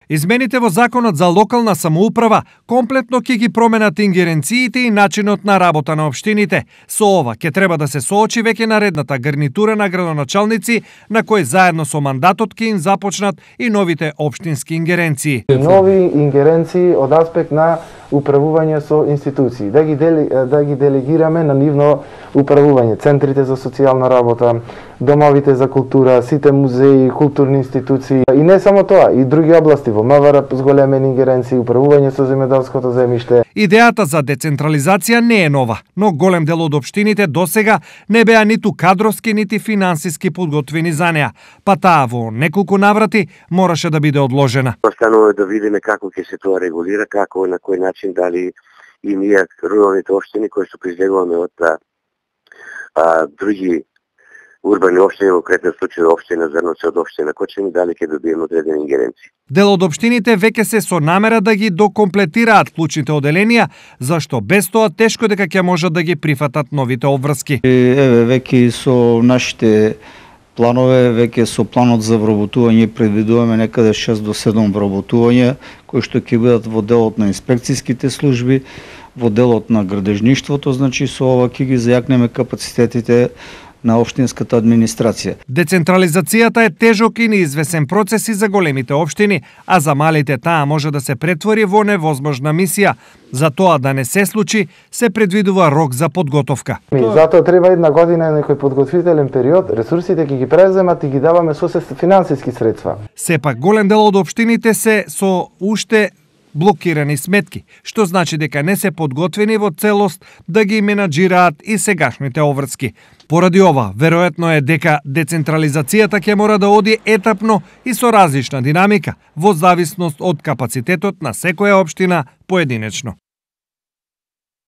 Измените во Законот за локална самоуправа комплетно ќе ги променат ингеренциите и начинот на работа на општините. Со ова ќе треба да се соочи веќе наредната гарнитура на градоначалници, на кои заедно со мандатот ќе им започнат и новите општински ингеренции. Нови ингеренции од аспект на управување со институции, да ги делегираме на нивно управување, центрите за социјална работа, домовите за култура, сите музеи, културни институции и не само тоа, и други области во МВР зголемени ингеренции, управување со земјоделското земјиште. Идејата за децентрализација не е нова, но голем дел од општините досега не беа ниту кадровски, нити финансиски подготвени за неа, па таа во неколку наврати мораше да биде одложена. Останува да видиме како ќе се тоа регулира, како на кој начин, дали и ние руралните општини кои што призлегуваме од други урбани општини, во конкретен случај општина Зрновци од општина Кочани, дали ќе добиеме одредени ингеренции. Дел од општините веќе се со намера да ги докомплетираат клучните оделенија, зашто без тоа тешко дека ќе можат да ги прифатат новите обврски. Еве веќе со нашите планове, веќе со планот за вработување предвидуваме некаде 6 до 7 вработувања, кои што ќе бидат во делот на инспекцијските служби, во делот на градежништвото, значи со ова ќе ги зајакнеме капацитетите на општинската администрација. Децентрализацијата е тежок и неизвесен процес и за големите општини, а за малите таа може да се претвори во невозможна мисија. За тоа да не се случи, се предвидува рок за подготовка. Затоа треба една година некој подготвителен период, ресурсите ќе ги преземат и ги даваме со финансиски средства. Сепак голем дел од општините се со уште блокирани сметки, што значи дека не се подготвени во целост да ги менаџираат и сегашните обврски. Поради ова, веројатно е дека децентрализацијата ќе мора да оди етапно и со различна динамика, во зависност од капацитетот на секоја општина поединечно.